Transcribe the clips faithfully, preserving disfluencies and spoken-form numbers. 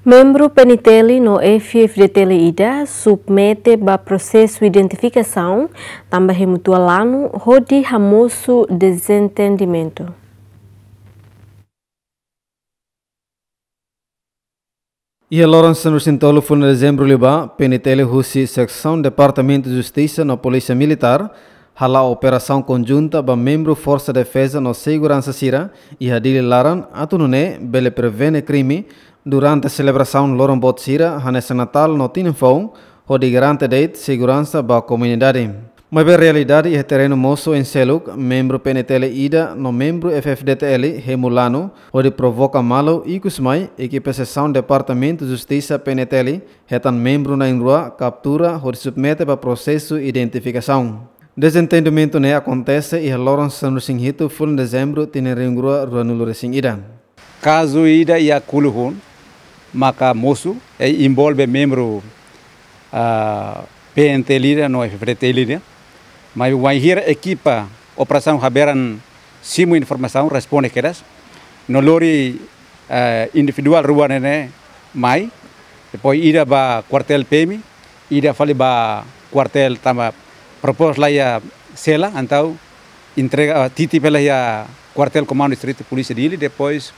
Membru P N T L no F F D T L ida submete ba prosesu identifikasaun tanba hemu tua lanu hodi hamosu dezentendimentu. Iha loron sanulu-resin-tolu fulan dezembru liubá, P N T L husi Seksaun Departamentu Justisa no Polísia Militár hala'o operasaun konjunta ba membru Forsa Defeza no Seguransa sira iha Dili laran, atu nune'e bele prevene krime durante selebrasaun loron boot sira hanesan Natál no Tinan Foun, hodi garante de'it seguransa ba komunidade. Maibé realidade iha terrenu mosu oin seluk, membru P N T L ida no membru F F D T L hemu lanu hodi provoka malu, ikus mai ekipa Seksaun Departamentu Justisa P N T L hetan membru na'in-rua kaptura hodi submete ba prosesu identifikasaun. Dezentendimentu ne'e akontese iha loron sanulu-resin-hitu fulan dezembru tinan rihun rua ruanulu-resin-ida. Kazu ida iha Kuluhun maka mosu, i envolve membru, ah, P N T L ida no F F D T L ida. Maibé wainhira ekipa operasaun haberan simu informasaun, responde kedas, no lori, eh, individuál rua ne'e mai, depois ida ba kuartél P M, ida fali ba kuartél tanba propostu la iha sela, entaun entrega, ah, titi fali iha kuartél Komandu Distritu Polísia Dili, depois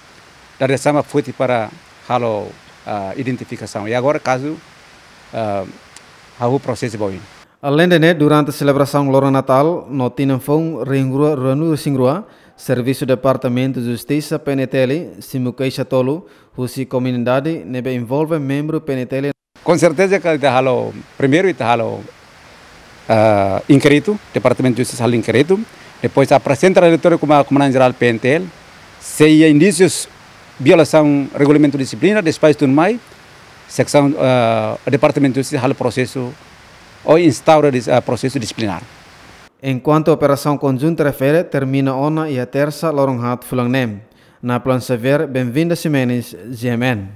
dada sama foti para halo, ah, identifikasaun. I agora kazu, ah, hahú prosesu ba oin. Aleinde ne'e, durante selebrasaun loron Natál no Tinan Foun rihun rua ruanulu-resin-rua, Servisu Departamentu Justisa P N T L simu keixa tolu husi komunidade ne'ebé envolve membru P N T L. Com certeza que ita halo, primeiru ita halo, ah, inkéritu, Departamentu Justisa halo inkéritu, depois aprezenta relatóriu ba Komandante Jerál P N T L, se iha indísius violasaun regulamentu dixiplina, depois tun mai, seksaun, ah, Departamentu Justisa halo prosesu ou instaura dis-, ah, prosesu dixiplinár. Enkuantu operasaun konjunta refere termina ona iha tersa loron haat fulan ne'e. Napoleon Xavier, Benvinda Ximenes, G M N.